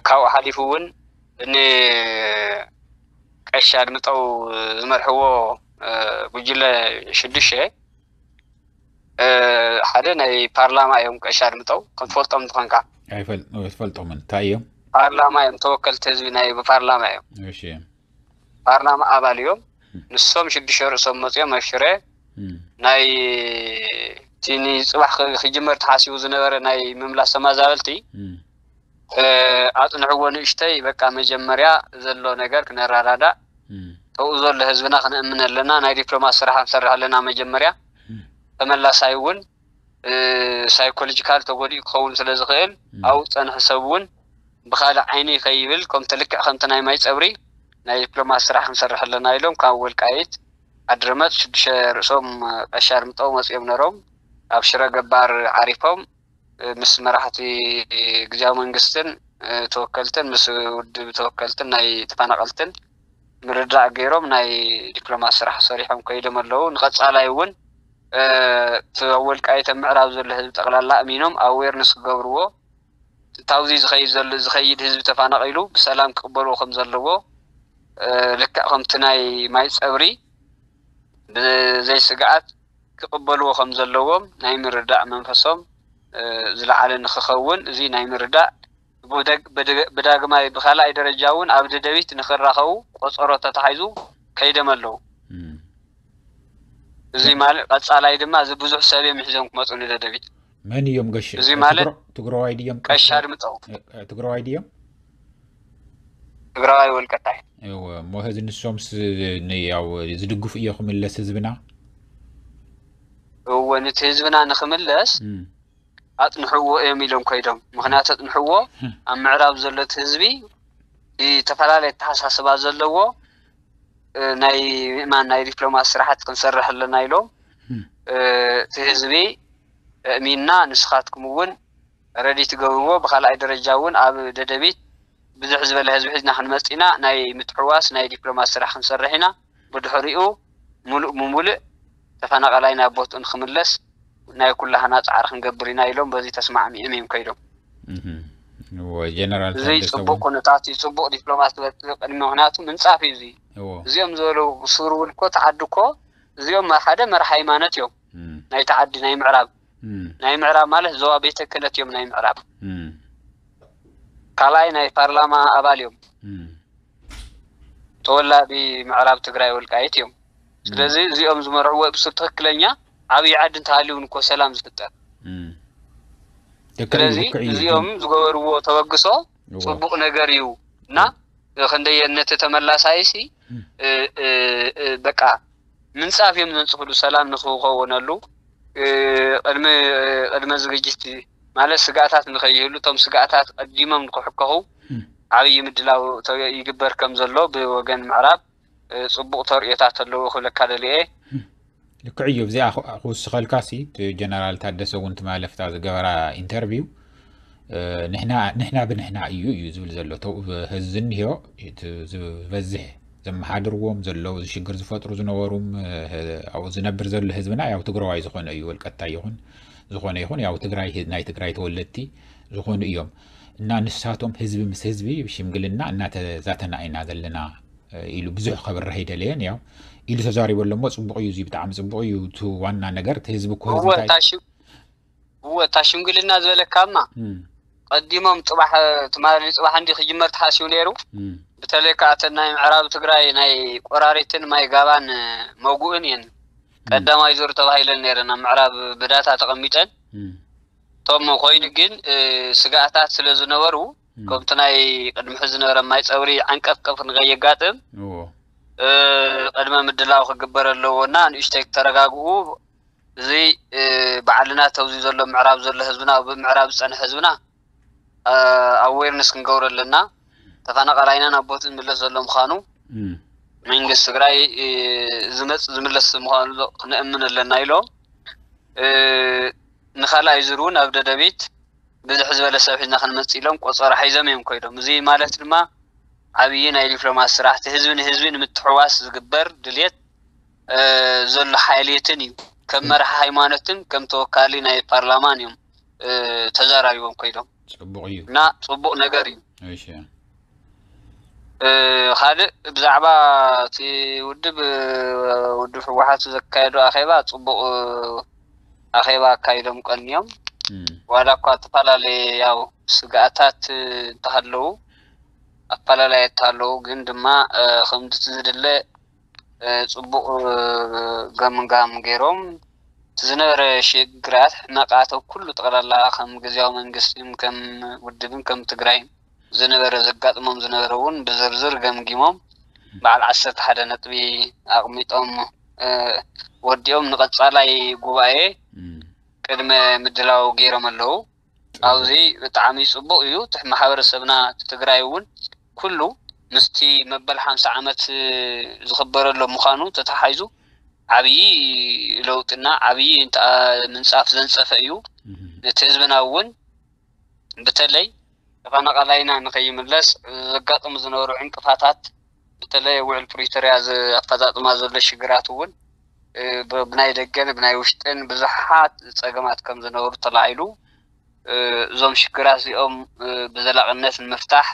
ካብኡ ሓሊፉ እውን እኒ ቀሺ ኣድምጠው ዝመርሕዎ ጉጅለ ሽዱሽተ ሓደ ናይ ፓርላማ እዮም ቀሺ ኣድምጠው ከም ትፈልጦም እንትኾንካ ኣይፈል- ኣይፈልጦምን እንታይ እዮም? ፓርላማ እዮም ተወከልቲ ህዝቢ ናይ ብፓርላማ እዮም እሺ ፓርላማ ኣባል እዮም። ንሶም ሽዱሽተ ርእሶም መፅኦም ኣብ ሽረ እም፣ ናይ እቲ ንፅባሕ ክ- ክጅመር ተሓሲቡ ዝነበረ ናይ ምምላስ ተመዛበልቲ እም፣ ኣፅንዕዎ ንእሽተይ በቃ መጀመርያ ዘሎ ነገር ክነረዳዳእ እም፣ ተብኡ ዘሎ ህዝብና ክንእምን ኣለና ናይ ዲፕሎማት ስራሕ ክንሰርሕ ኣለና መጀመርያ እም፣ ተመላሳይ እውን ሳይኮሎጂካል ተጎዲኡ ክኸውን ስለ ዝኽእል ኣብኡ ዝፀንሐ ሰብ እውን ብኻልእ ዓይኒ ከይብል ከምቲ ልክዕ ከምቲ ናይ ማይ ፀብሪ ናይ ዲፕሎማት ስራሕ ክንሰርሕ ኣለና ኢሎም ካብ ወልቃይት ኣድረመፅ ሽዱሽተ ርእሶም ቀሻር ምጠው መፂኦም ነሮም ኣብ ሽረ ገባር ዓሪፎም ምስ መራሕቲ ግዝያዊ መንግስትን ተወከልትን ምስ ውድብ ተወከልትን ናይ ተፈናቀልትን ምርዳእ ገይሮም ናይ ዲፕሎማሲ ስራሕ ሰሪሖም ከይዶም ኣለዉ። ንቐጻላይ እውን እቲ ኣብ ወልቃይት ኣብ ምዕራብ ዘሎ ህዝቢ ጠቕላላ ኣሚኖም ኣዌርነስ ክገብርዎ፣ እታውዚ ዝኸይድ ዘሎ ዝኸይድ ህዝቢ ተፋናቒሉ ብሰላም ክቕበልዎ ከም ዘለዎ፣ ልክዕ ከምቲ ናይ ማይ ጸብሪ ብዘይ ስግኣት ክቕበልዎ ከም ዘለዎም ናይ ምርዳእ መንፈሶም ዝለዓለ ንክኸውን፣ እዚ ናይ ምርዳእ ብዳግማይ ብካልኣይ ደረጃ እውን ኣብ ደደቢት ንክራኸቡ ቆፀሮ ተታሒዙ ከይዶም ኣለዉ። እዚ ማለት ቀፃላይ ድማ እዚ ብዙሕ ሰብ እዮም ሒዞም ክመፁ ንደደቢት። መን እዮም ገሽ እዚ ማለት ትግራዋይ ድዮም ቀሻ ድምፀው ትግራዋይ ድዮም? ትግራዋይ ወልቀታይ እሞ ህዚ ንሶምስ ያው ዝድግፉ እዮ ክምለስ ህዝብና? እወ፣ ነቲ ህዝብና ንክምለስ ኣጥንሕዎ እዮም ኢሎም ከይዶም። ምክንያቱ ኣጥንሕዎ ኣብ ምዕራብ ዘሎ እቲ ህዝቢ ዝተፈላለየ ኣተሓሳስባ ዘለዎ ናይ ምእማን ናይ ዲፕሎማሲ ስራሕቲ ክንሰርሕ ኣለና ኢሎም እቲ ህዝቢ እሚንና ንስኻትኩም እውን ረዲ ትገብርዎ። ብካልኣይ ደረጃ እውን ኣብ ደደቢት ብዝሕ ዝበለ ህዝቢ ሒዝና ክንመፅእ ኢና። ናይ ምትሕዋስ ናይ ዲፕሎማሲ ስራሕ ክንሰርሕ ኢና። ብድሕሪኡ ሙሉእ ብሙሉእ ተፈናቐላይ ናብ ቦትኡ ንክምለስ ናይ ኩላህና ፃዕሪ ክንገብር ኢና ኢሎም በዚ ተስማዕሚዕም እዮም ከይዶም። ጀነራል እዚ ፅቡቅ ኩነታት እዩ፣ ፅቡቅ ዲፕሎማሲ ትበፅእ ቅድሚ ምክንያቱ ምንፃፍ እዩ። እዚ እዚኦም ዝበሉ ሱር እውን እኮ ተዓዲ እኮ እዚኦም ሓደ መራሕ ሃይማኖት እዮም ናይ ተዓዲ ናይ ምዕራብ ናይ ምዕራብ ማለት ዞባ ቤተ ክህነት እዮም ናይ ምዕራብ። ካልኣይ ናይ ፓርላማ ኣባል እዮም። ተወላዲ ምዕራብ ትግራይ ወልቃይት እዮም። ስለዚ እዚኦም ዝመርሕዎ ብሱ ትክክለኛ ዓብዪ ዓዲ እንተሃልዩ እውን እኮ ሰላም ዝፍጠር። ስለዚ እዚኦም ዝገበርዎ ተበግሶ ፅቡቅ ነገር እዩ እና ክንደየ ነቲ ተመላሳይሲ በቃ ምንፃፍ እዮም ዘንፅፍሉ ሰላም ንክኸወነሉ ቅድሚ ቅድመ ዝግጅት ማለት ስጋኣታት ንከይህሉ እቶም ስጋኣታት ቀዲሞም ንክሕከኹ ዓብዪ ምድላው ይግበር ከም ዘሎ ብወገን ምዕራብ ፅቡቅ ተርእዮታት ኣለዎ ክብለካ ደልየ። ልክዕ እዩ። እዚኣ ክውስኸልካ ሲ ጀነራል ታደሰ እውን ትማለፍታ ዝገበራ ኢንተርቪው ንሕና ብንሕና እዩ እዩ ዝብል ዘሎ ተው ህዝቢ እንሄዮ ዝበዝሕ ዘመሓድርዎም ዘለዉ ሽግር ዝፈጥሩ ዝነበሩም ኣብኡ ዝነብር ዘሎ ህዝብና ያው ትግራዋይ ዝኾነ እዩ ወልቀታይ ይኹን ዝኾነ ይኹን ያው ትግራይ ናይ ትግራይ ተወለድቲ ዝኾኑ እዮም እና ንሳቶም ህዝቢ ምስ ህዝቢ ሽምግልና እናተዛተና ኢና ዘለና ኢሉ ብዙሕ ከብርህ ኣይደለየን ያው ኢሉ ተዛሪቡ ኣሎ እሞ ፅቡቕ እዩ እዚ ብጣዕሚ ፅቡቕ እዩ እቲ ዋና ነገር እቲ ህዝቢ እኮ ህዝቢ እንታይ እወ እታ ሽምግልና ዝበለካማ ቀዲሞም ፅባሕ ትማሊ ፅባሕ እንዲ ክጅመር ተሓሲቡ ነይሩ። በተለይ ከዓ እተን ናይ ምዕራብ ትግራይ ናይ ቆራሪትን ማይ ጋባን መጉእን እየን ቀዳማይ ዙር ተባሂለን ነይረን ኣብ ምዕራብ ብዳታ ተቐሚጠን። እቶም ኮይኑ ግን ስጋኣታት ስለ ዝነበሩ ከምቲ ናይ ቅድሚ ሕዚ ዝነበረ ማይ ፀብሪ ዓንቀፍቀፍ ንከየጋጥም ቅድመ ምድላው ክግበር ኣለዎ እና ንእሽተይ ተረጋግኡ። እዚ ባዕልና ተውዚ ዘሎ ምዕራብ ዘሎ ህዝብና ኣብ ምዕራብ ዝፀንሐ ህዝብና ኣዌርነስ ክንገብሮ ኣለና። ተፈናቐላይና ናብ ቦትኡ ዝምለስ ዘሎ ምዃኑ መንግስቲ ትግራይ ዝመፅ ዝምለስ ምዃኑ ክነእምን ኣለና ኢሎም። ንካልኣይ ዙር እውን ኣብ ደደቢት ብዝሕ ዝበለ ሰብ ሒዝና ክንመፅእ ኢሎም ቆፀሮ ሓይዞም እዮም ኮይዶም። እዚ ማለት ድማ ዓብዪ ናይ ዲፕሎማሲ ስራሕ እቲ ህዝቢ ንህዝቢ ንምትሕዋስ ዝግበር ድልየት ዘሎ ሓይልየትን እዩ። ከም መራሒ ሃይማኖትን ከም ተወካሊ ናይ ፓርላማን እዮም ተዛራሪቦም ኮይዶም ፅቡቕ እዩ እና ፅቡቕ ነገር እዩ። እሺ ካልእ ብዛዕባ እቲ ውድብ ውድብ ህወሓት ዘካየዱ ኣኼባ ፅቡቕ ኣኼባ ኣካይዶም ቀንዮም ዋላ እኳ ዝተፈላለየ ያው ስግኣታት እንተሃለዉ ኣፈላላይ እንተሃለዉ ግን ድማ ከምቲ ዝድለ ፅቡቕ ገምጋም ገይሮም እቲ ዝነበረ ሽግራት ሕመቃት ኩሉ ጠቕላላ ከም ግዝያዊ መንግስትን ከም ውድብን ከም ትግራይን ዝነበረ ዘጋጥሞም ዝነበረ እውን ብዝርዝር ገምጊሞም በዓል ዓሰርተ ሓደ ነጥቢ ኣቕሚጦም ወዲኦም ንቐፃላይ ጉባኤ ቅድመ ምድላው ገይሮም ኣለዉ። ኣብዚ ብጣዕሚ ፅቡቕ እዩ። እቲ ማሕበረሰብና እቲ ትግራይ እውን ኩሉ ምስቲ መበል ሓምሳ ዓመት ዝኽበረሎ ምዃኑ ተተሓሒዙ ዓብዪ ለውጥና ዓብዪ ምንፃፍ ዘንፀፈ እዩ። ነቲ ህዝብና እውን ብተለይ ተፈናቐላይና ንኸይምለስ ዘጋጥሙ ዝነበሩ ዕንቅፋታት እቲ በተለይ ውዕል ፕሪቶርያ ኣፈፃፅማ ዘሎ ሽግራት እውን ብናይ ደገን ብናይ ውሽጥን ብዙሓት ፀገማት ከም ዝነበሩ ተላዒሉ፣ እዞም ሽግራት እዚኦም ብዘላቕነት ንምፍታሕ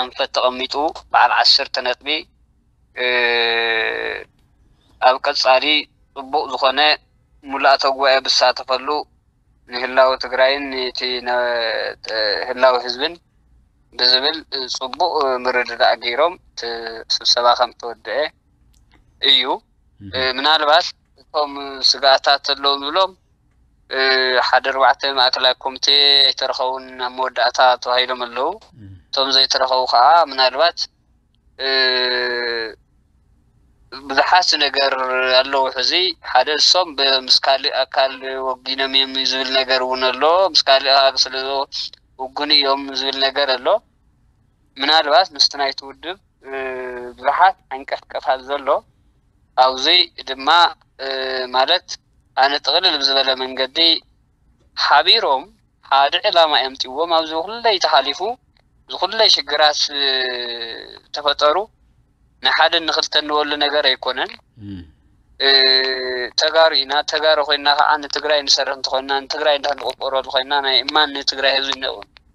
ኣንፈት ተቐሚጡ በዓል ዓሰርተ ነጥቢ ኣብ ቀፃሊ ፅቡቕ ዝኾነ ሙላእተ ጉባኤ ብሳተፈሉ ንህላወ ትግራይን ነቲ ህላወ ህዝብን ብዝብል ፅቡቕ ምርድዳእ ገይሮም ስብሰባ ከም ተወደአ እዩ። ምናልባት እቶም ስጋኣታት ኣለዉ ንብሎም ሓደ ኣርባዕተ ማእከላይ ኮሚቴ ኣይተረኸቡን ኣብ መወዳእታ ተባሂሎም ኣለዉ። እቶም ዘይተረኸቡ ከዓ ምናልባት ብዙሓት ነገር ኣለዉ። ሕዚ ሓደ እሶም ምስ ካልእ ኣካል ወጊኖም እዮም ዝብል ነገር እውን ኣሎ። ምስ ካልእ ኣካል ስለ ውጉን እዮም ዝብል ነገር ኣሎ። ምናልባት ምስቲ ናይቲ ውድብ ብዙሓት ዓንቀፍቀፋት ዘሎ ኣብዚ ድማ ማለት ኣነ ጥቕልል ብዝበለ መንገዲ ሓቢሮም ሓደ ዕላማ እዮም ጥዎም ኣብዚ ኩለይ ተሓሊፉ ዝኩለይ ሽግራት ዝተፈጠሩ ንሓደ ንክልተ ንበሉ ነገር ኣይኮነን። ተጋሩ ኢና። ተጋሩ ኮይና ከዓ ንትግራይ ንሰርሕ እንተኮይና ንትግራይ እንዳ ንቆርቆረሉ ኮይና ናይ እማን ንትግራይ ህዝቢ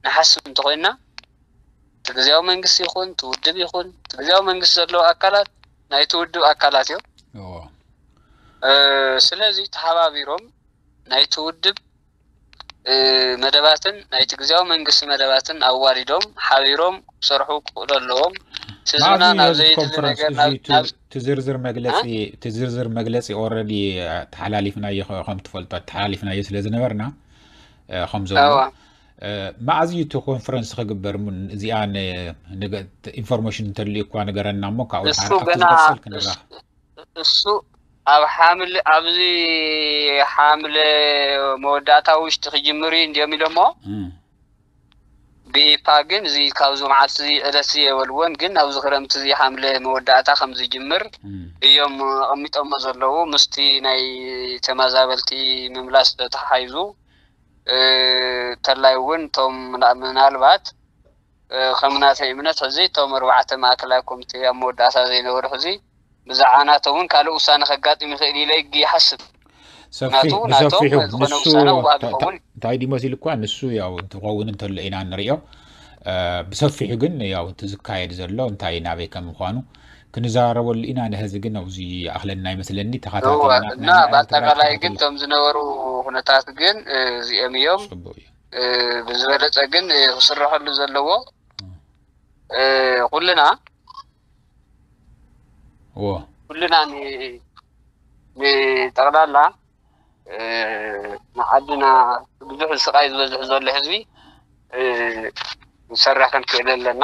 ንሓስብ እንተኮይና እቲ ግዜያዊ መንግስቲ ይኹን እቲ ውድብ ይኹን እቲ ግዜያዊ መንግስቲ ዘለዉ ኣካላት ናይቲ ውድብ ኣካላት እዮም። ስለዚ ተሓባቢሮም ናይቲ ውድብ መደባትን ናይቲ ግዜያዊ መንግስቲ መደባትን ኣዋዲዶም ሓቢሮም ክሰርሑ ክኽእሉ ኣለዎም። ህዝብና ናብ ዘይድሊ ነገር ናብ ዝርዝር መግለፂ እቲ ዝርዝር መግለፂ ኦረዲ ተሓላሊፍናዮ ከም ትፈልጦ ተሓላሊፍናዮ ስለ ዝነበርና ከም ዘሎ መዓዝ እዩ እቲ ኮንፈረንስ ክግበር እዚኣ ኢንፎርሜሽን እንተልዩ እኳ ንገረና እሞ ካብኡ ዝሓልሓ ክትዝቅፅል ክንራኽ እሱ ኣብ ሓምለ ኣብዚ ሓምለ መወዳእታ ውሽጢ ክጅምር እዩ እንዲዮም ኢሎሞ ብኢፓ ግን እዚ ካብዚ መዓልቲ እዚ ዕለት እዚ የበልዎን ግን ኣብዚ ክረምቲ እዚ ሓምለ መወዳእታ ከም ዝጅምር እዮም ኣቐሚጦሞ ዘለዉ ምስቲ ናይ ተመዛበልቲ ምምላስ ተተሓሒዙ ተላይ እውን እቶም ምናልባት ከም ናተይ እምነት ሕዚ እቶም ኣርባዕተ ማእከላይ ኮሚቴ ኣብ መወዳእታ ዘይነበሩ ሕዚ ብዛዕባ ናቶም እውን ካልእ ውሳነ ከጋጥም ይኽእል ኢለ ይሓስብ። ሰፊሕ ብሰፊሑ ንሱ እንታይ ድዩ መሲሉ እኳ ንሱ ያው እንትኸውን እንተሎ ኢና ንሪኦ። ብሰፊሑ ግን ያው እቲ ዝካየድ ዘሎ እንታይ ናበይ ከም ምኳኑ ክንዘራረበሉ ኢና። ንህዚ ግን ኣብዚ ኣኽለና ይመስለኒ ተኸታተልና እና ብኣጠቃላይ ግን እቶም ዝነበሩ ኩነታት ግን እዚኦም እዮም። ብዝበለፀ ግን ክስረሐሉ ዘለዎ ኩልና ኩልና ንጠቕላላ ንዓድና ብዙሕ ስቃይ ዝበዝሕ ዘሎ ህዝቢ ንሰርሕ ክንክእል ኣለና።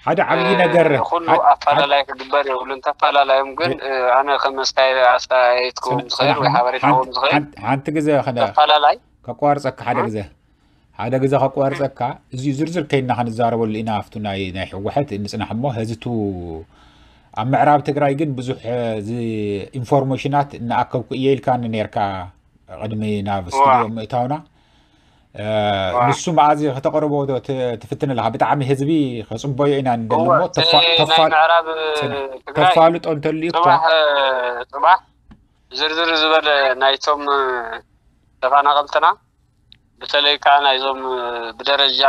ሓደ ዓብዪ ነገር ኩሉ ኣፋላላይ ክግበር የብሉን። ተፋላላዮም ግን ኣነ ከም ኣስተያየትኩም ዝኽእል ወይ ሓበሬታኩም ዝኽእል ሓንቲ ግዜ ተፋላላይ ከቋርፀካ ሓደ ግዜ ሓደ ግዜ ከቋርፀካ እዚ ዝርዝር ከይና ክንዛረበሉ ኢና ኣብቱ ናይ ናይ ህወሓት ንፅናሕ እሞ ህዝቱ ኣብ ምዕራብ ትግራይ ግን ብዙሕ ኢንፎርሜሽናት እናኣከብኩ እየ ኢልካኒ ነርካ ቅድሚ ናብ ስቱድዮ ምእታውና ንሱ መዓዝ ከተቕርቦ ትፍትን ኣለካ ብጣዕሚ ህዝቢ ከፅበዮ ኢና ንደሊ እሞ ተፋልጦ እንተልዩ እኳ ፅባሕ ዝርዝር ዝበለ ናይቶም ተፈናቐልትና ብተለይ ከዓ ናይዞም ብደረጃ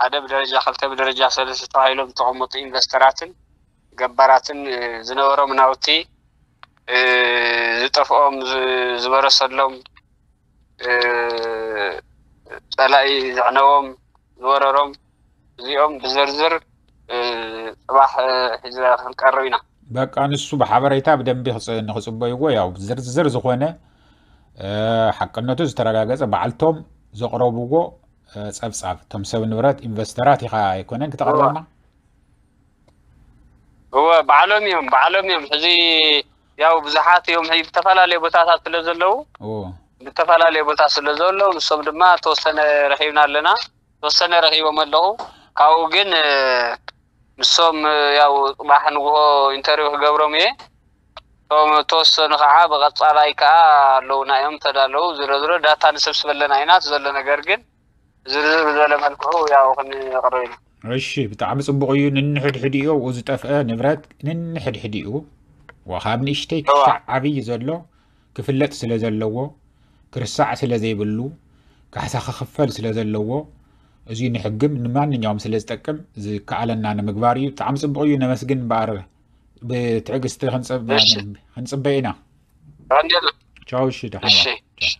ሓደ ብደረጃ ክልተ ብደረጃ ሰለስተ ተባሂሎም ዝተቐመጡ ኢንቨስተራትን ገባራትን ዝነበሮም ናውቲ ዝጠፍኦም ዝበረሰሎም ፀላኢ ዘዕነዎም ዝወረሮም እዚኦም ብዝርዝር ፅባሕ ሒዘ ክንቀርብ ኢና። በቃ ንሱ ብሓበሬታ ብደንቢ ንክፅበይዎ ያው ዝርዝር ዝኾነ ሓቅነቱ ዝተረጋገፀ ባዕልቶም ዘቕረብዎ ፀብፃብ እቶም ሰብ ንብረት ኢንቨስተራት ኢኻ ኣይኮነን ክተቕርበልና እወ ባዕሎም እዮም ባዕሎም እዮም ሕዚ ያው ብዙሓት እዮም ብዝተፈላለየ ቦታታት ስለ ዘለዉ ብዝተፈላለየ ቦታ ስለ ዘለዉ ንሶም ድማ ተወሰነ ረኺብና ኣለና ተወሰነ ረኺቦም ኣለኹ ካብኡ ግን ንሶም ያው ፅባሕ ንግሆ ኢንተርቪው ክገብሮም እየ እቶም ተወሰኑ ከዓ ብቐፃላይ ከዓ ኣለውና እዮም ተዳለዉ ዝሮ ዝሮ ዳታ ንሰብስበለና ኢና ዘሎ ነገር ግን ዝርዝር ብዝበለ መልክዑ ያው ክንቅርብ ኢና እሺ፣ ብጣዕሚ ጽቡቕ እዩ። ንንሕድሕዲኡ ኣብኡ ዝጠፍአ ንብረት ንንሕድሕዲኡ፣ ወ-፣ ካብ ንእሽተይ እዋ። ክሳዕ ዓብዪ ዘሎ ክፍለጥ ስለ ዘለዎ፣ ክርሳዕ ስለ ዘይብሉ፣ ካሕሳ ክኽፈል ስለ ዘለዎ፣ እዚ ንሕግም ንማንኛውም ስለ ዝጠቅም ዝከኣለና ንምግባር እዩ። ብጣዕሚ ጽቡቕ እዩ። ነመስግን እምበኣር ብትዕግስቲ ክንጽብ-፣ እሺ። ክንጽበ ኢና። ቀንዴል። ቻው። እሺ፣ ደሓን እሺ። ዋል። ቻው።